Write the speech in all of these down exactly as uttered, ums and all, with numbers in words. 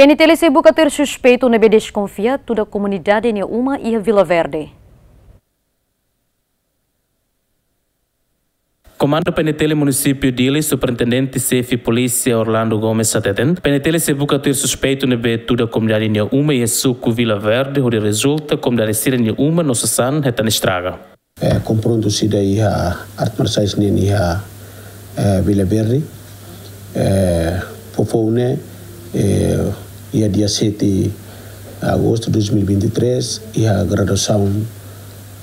P N T L sei buka tuir suspeitu ne'ebé deskonfia tuda komunidade nia uma iha Vila Verde. Komandu P N T L Munisípiu Dili, Superintendente Xefe Polísia Orlando Gomes hateten, P N T L sei buka tuir suspeitu ne'ebé tuda komunidade nia uma iha suku Vila Verde, hodi rezulta komunidade sira-nia uma no sasán hetan estraga. Eh, konfrontu sira iha arte marsiais nian iha, eh, Vila Verde. Eh, foufoun ne'e, eh, iha dia sete agostu dois mil e vinte e três, iha graduasaun,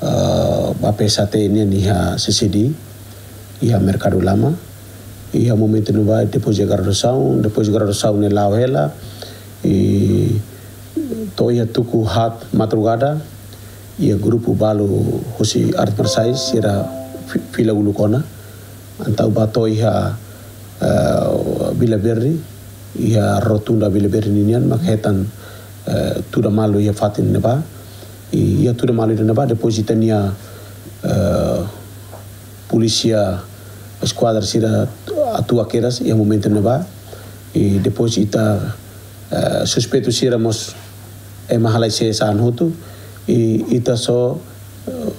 eh, ba P S H T nian iha C C D, iha Merkadu Lama. Iha momentu ne'ebá, depois de graduasaun, depois de graduasaun ne'e la'o hela, i to'o iha tuku haat madrugada, iha grupu balu husi arte marsiais sira fi-, fila uluk ona. Entaun ba to'o iha, eh, Vila Verde, iha rotunda Vila Verde ninian, mak hetan, eh, tuda malu iha fatin ne'ebá. I iha tuda malu iha ne'ebá, depois ita-nia, eh, polísia eskuadra sira atua kedas iha momentu ne'ebá. I depois ita, eh, suspeitu sira mós ema halai sasán hotu, i ita só, eh,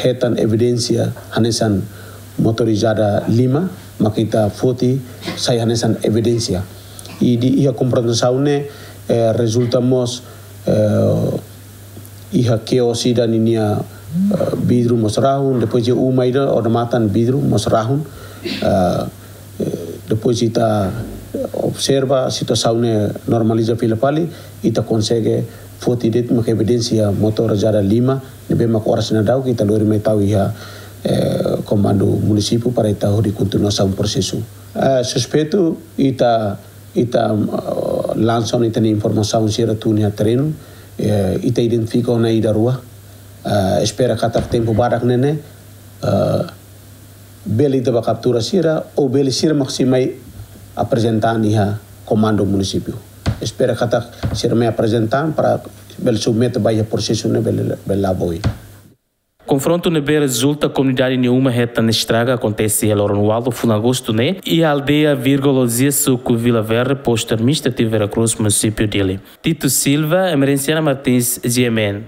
hetan evidénsia hanesan motorizada lima, mak ita foti sai hanesan evidénsia. I di iha konfrontasaun ne'e, eh, rezulta mós, eh, iha kios ida ninia, eh, vidru mós rahun, depois iha uma ida odamatan vidru mós rahun. Eh, eh, depois ita observa situasaun ne'e normaliza fila fali, ita konsege foti de'it mak evidénsia motorizada lima, ne'ebé mak oras ne'e daudaun ita lori mai tau iha, eh, komandu munisípiu para ita hodi kontinuasaun prosesu. Eh, suspeitu ita, ita, eh, lansa ona ita-nia informasaun sira tun iha terrenu, eh, ita identifika ona ida rua. Eh, espera katak tempu badak ne'e ne'e, eh, bele ita bá kaptura sira, ou bele sira mak sei mai aprezenta iha komandu munisípiu. Espera katak sira mai aprezenta para bele submete ba iha prosesu ne'e bele, bele la'o ba oin. Konfrontu ne'ebé rezulta komunidade nia uma hetan estraga akontese iha loron ualu fulan agostu ne'e, iha aldeia Virgologia, suku Vila Verde, postu administrativu Vera Cruz, munisípiu Dili. Tito Silva, Emerenciana Martins, G M N.